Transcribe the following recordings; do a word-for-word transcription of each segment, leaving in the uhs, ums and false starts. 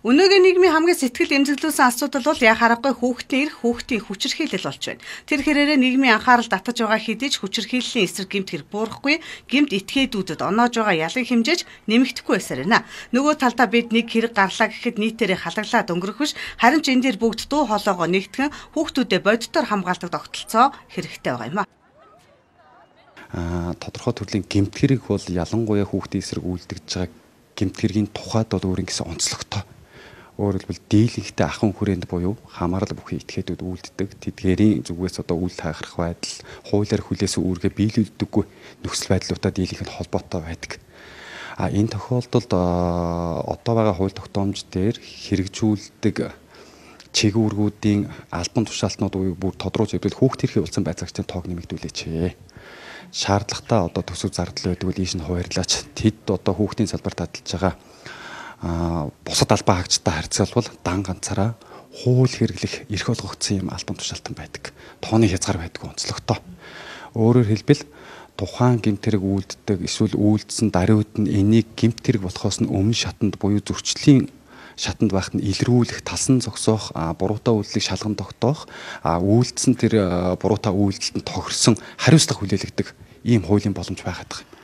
Өнөөгийн нийгмийн хамгийн сэтгэл эмзэглүүлсэн асуудал бол яг харахгүй хүүхдийн эрх, хүүхдийн хүчирхийлэл болж байна. Тэр хэрээрээ нийгмийн анхаарал татаж байгаа хэдий ч хүчирхийллийн эсрэг гэмт хэрэг буурахгүй, гэмт этгээдүүдэд оноож байгаа ялын хэмжээж нэмэгдэхгүй байсаар байна. Нөгөө талдаа бид нэг хэрэг гарлаа гэхэд нийтээрээ халаглаад өнгөрөх биш, харин ч энэ дээр бүгд дуу хоолойгоо нэгтгэн хүүхдүүдэд бодитоор хамгаалдаг тогтолцоо хэрэгтэй байгаа юм а. Аа тодорхой төрлийн гэмт хэрэг бол ялангуяа хүүхдийн эсрэг үйлдэгдэж байгаа гэмт хэргийн тухайд бол өөрийн гэсэн онцлогтой. Өөрөөр хэлбэл дийлэнхтэй ахын хүрээнд буюу хамаарал бүхий этгээдүүд үйлддэг тэдгээрийн зүгээс одоо үйл хайхрах байдал, хуулиар хүлээсэн үүргээ биелүүлдэггүй нөхцөл байдлуудаа дийлэнх нь холбоотой байдаг. А энэ тохиолдолд одоо байгаа хууль тогтоомж дээр хэрэгжүүлдэг чиглэлүүдийн албан тушаалтнууд буюу бүр тодруулж хэвлэл хүүхд төрхийн улсын байцаагчдын тоог нэмэгдүүлээч. Шаардлагатай одоо төсөв зардал байдаг бол ийш нь хуваарлаач. Тэд одоо хүүхдийн салбарт таталж байгаа а бусад албан хаагчтай харьцуулбал дан ганцаараа хууль хэрэглэх эрх олгогдсон юм албан тушаалтан байдаг. Тооны хязгаар байдаг онцлогтой. Өөрөөр хэлбэл тухайн гэмт хэрэг үйлддэг эсвэл үйлдсэн даруйд нь энийг гэмт хэрэг болохоос нь өмнө шатанд буюу зөрчлийн шатанд байхад нь илрүүлэх, талсан зогсоох, буруутай үйлдэлийг шалган тогтоох, үйлдсэн тэр буруутай үйлдэлд тохирсон хариуцлага хүлээлгдэг ийм хуулийн боломж байгаад байгаа.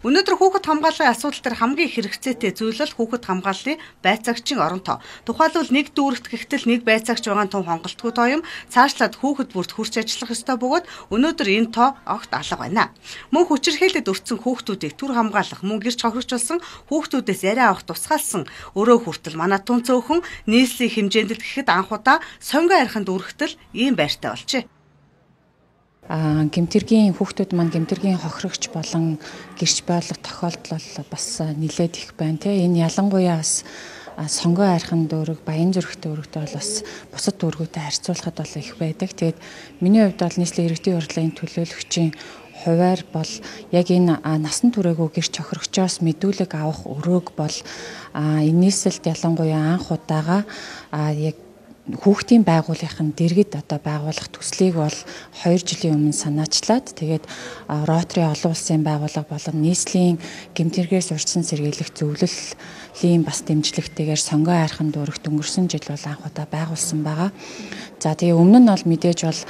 Өнөөдөр хүүхэд хамгааллын асуудал дээр хамгийн хэрэгцээтэй зүйл бол хүүхэд хамгааллын байцаагчийн оронтоо. Тухайлбал нэг дүүрэгт гихтэл нэг байцаагч байгаа том хонголтгүй тоо юм. Цаашлаад хүүхэд бүрт хурц ажиллах ёстой бөгөөд өнөөдөр энэ тоо огт алга байна. Мөн хүчирхээлэд өртсөн хүүхдүүдийг түр хамгаалах, мөн гэрч хохирчулсан хүүхдүүдээс яриа авах тусгаалсан өрөө хүртэл манай түн цөөхөн нийслэлийн хэмжээнд л гэхэд анхудаа сонгоо архинд үргэлтэл ийм байртай болжээ. А гэмтэргийн хүүхдүүд маань гэмтэргийн хохирогч болон гэрч байлах тохиолдол бас нэлээд их байна те. Энэ ялангуяа бас сонгоо архин дүүрэг, баян зүрхтэй дүүрэгтэй бол бас бусад дүүргүүтэй харьцуулахад бол их байдаг. Тэгээд миний хувьд бол нийслэлийн иргэдийн урлагийн төлөөлөгчийн хуваар бол яг энэ насан туршаагүй гэрч хохирогчоос мэдүүлэг авах өрөөг бол энэс л ялангуяа анх удаага яг хүүхдийн байгууллагын дэргэд одоо байгуулах төслийг бол хоёр жилийн өмнө санаачлаад тэгээд Ротари олон улсын байгууллага болон нийслэлийн гэмтэргээс урьдчилан сэргийлэх зөвлөлийн бас дэмжлэгтэйгээр сонгоо архин дүүрэгт өнгөрсөн жил бол анх удаа байгуулсан байгаа. За тэгээ өмнө нь бол мэдээж бол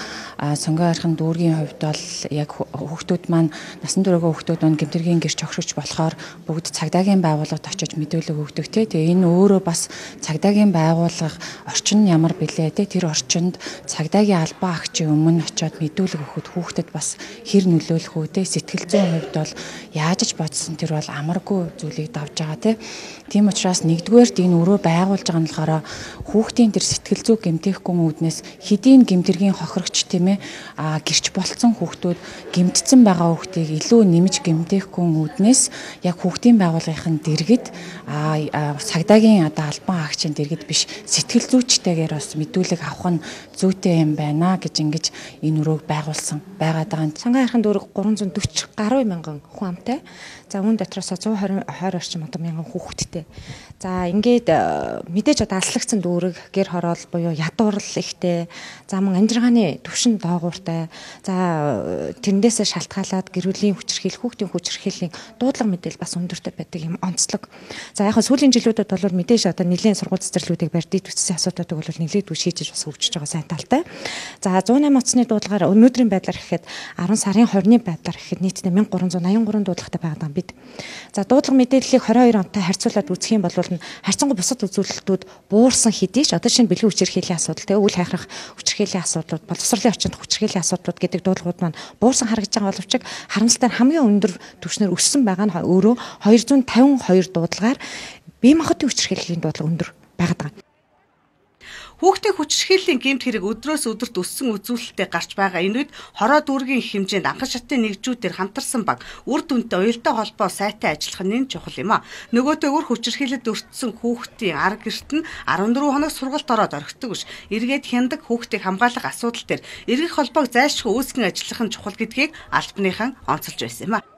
сонгоо архин дүүргийн хувьд бол яг хүүхдүүд маань насан туршаагүй хүүхдүүд маань гэмтэргийн гэрч хохирогч болохоор бүгд цагдаагийн байгууллагад очиж мэдүүлэг өгдөг те. Тэгээ энэ өөрөө бас цагдаагийн байгууллага орчин нь ямар билээ те, тэр орчинд цагдаагийн албан агчийн өмнө очиод мэдүүлэг өгөхөд хүүхдэд бас хэр нөлөөлөх үү те, сэтгэл зүйн хувьд бол яаж ч бодсон тэр бол амаргүй зүйлийг давж байгаа те. Тийм учраас нэгдүгээрт энэ өрөө байгуулж байгаа нь болохоор хүүхдийн тэр сэтгэл зүй гэмтээхгүй үүднээс хэдийн гэмтэргийн хохирогч тийм ээ гэрч болцсон хүүхдүүд гэмтсэн байгаа хүүхдийг илүү нэмж гэмтээхгүй үүднээс яг хүүхдийн байгууллагын дэргэд цагдаагийн одоо албан агчийн дэргэд биш сэтгэл зүйчтэйгээр бас мэдүүлэг авах нь зүйтэй юм байна гэж ингэж энэ өрөөг байгуулсан байгаа даа. Сонгоо архин дүүрэг гурван зуун дөрвөн гаруй мянган хүн амтай. За үүн дотроос зуун хорин орчим одоо мянган хүүхэдтэй. За ингээд мэдээж одоо алслагдсан дүүрэг гэр хороол буюу ядуурл ихтэй. За мөн амжиргааны төвшин доогууртай. За тэрнээсээ шалтгаалаад гэрүүлийн хүчирхийлэл, хүүхдийн хүчирхийллийн дуудлага мэдээлэл бас өндөртэй байдаг юм онцлог. За яг сүүлийн жилүүдэд бол мэдээж одоо нэлийн сургууль цэцэрлүүдийг барьдыг төссөн асуудлуудыг бол нэлээд шийдэж бас хөгжиж байгаа сайн талтай. За зуун найман оцны дуудлагаар өнөөдрийн байдлаар гэхэд арван сарын хорины байдлаар гэхэд нийтдээ мянга гурван зуун аян гурван дуудлагатай байгаа юм бид. За дуудлага мэдээллийг хорин хоёр онтой харьцуулаад үзэх юм бол харьцангуй бусад үзүүлэлтүүд буурсан хэдий ч одоо шинэ бэлгийн хүчирхийллийн асуудал тэгээ үйл хайхрах хүчирхийллийн асуудлууд боловсролын орчинд хүчирхийллийн асуудлууд гэдэг дуудлагууд маань буурсан харагдаж байгаа боловч харамсалтай нь хамгийн өндөр түвшнээр өссөн байгаа нь өөрөө хоёр зуун тавин хоёр дуудлагаар бие махбодын хүчирхийллийн дуудлага өндөр байгаад байгаа. Хүүхдийн хүчирхийллийн гэмт хэрэг өдрөөс өдөрт өссөн үзүүлэлтэд гарч байгаа энэ үед хороо дүүргийн хэмжээнд анхан шатны нэгжүүдээр хамтарсан баг үр дүнтэй уялдаа холбоо сайтай ажиллах нь чухал юм а. Нөгөөтэйгөр хүчирхийлэлд өртсөн хүүхдийн ар гэрт нь арван дөрвөн хоног сургалт ороод орхидог биш. Эргээд хяндаг хүүхдийг хамгаалах асуудал дээр эргэх холбоог зайлшгүй үүсгэн ажиллах нь чухал гэдгийг албаныхан онцолж байсан юм а.